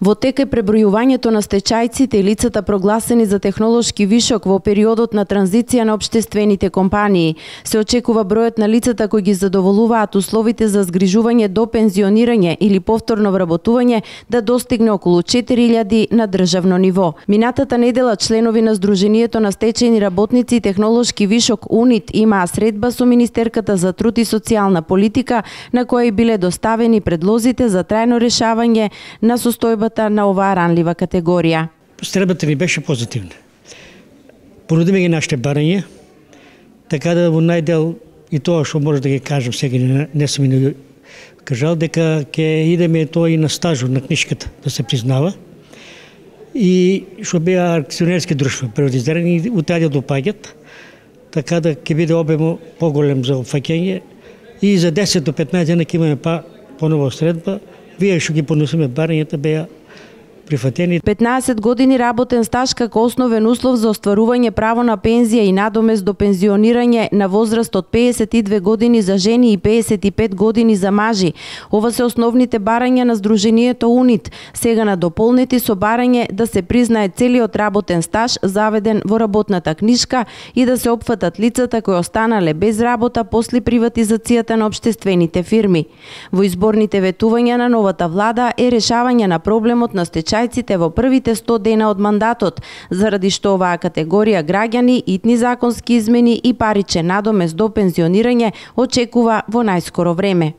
Во тек е пребројувањето на стечајците и лицата прогласени за технолошки вишок во периодот на транзиција на општествените компании. Се очекува бројот на лицата кои ги задоволуваат условите за згрижување до пензионирање или повторно вработување да достигне околу 4000 на државно ниво. Минатата недела членови на Сдруженијето на стечајни работници и технолошки вишок УНИТ имаа средба со Министерката за труд и социјална политика на која и биле доставени предлозите за трајно решавање на состојбата на оваа ранлива категорија. Средбата ни беше позитивна. Понудиме ги нашите барања, така да во најдел и тоа што може да ги кажам сега, не сум и кажал, дека ќе идеме тоа и на стажот на книшката да се признава. И што беа акционерски друштва приватизирани, утаде допаѓат, така да ќе биде обемо поголем за опфаќање и за 10 до 15 дена ќе имаме понова средба. Вие што ги понесеме барањата беа прифатени. 15 години работен стаж како основен услов за остварување право на пензија и надомест до пензионирање на возраст од 52 години за жени и 55 години за мажи. Ова се основните барања на Сдруженијето УНИТ, сега надополнети со барање да се признае целиот работен стаж заведен во работната книшка и да се опфатат лицата кои останале без работа после приватизацијата на општествените фирми. Во изборните ветувања на новата влада е решавање на проблемот на стечајците во првите 100 дена од мандатот, заради што оваа категорија граѓани, итни законски измени и паричен надомест до пензионирање очекува во најскоро време.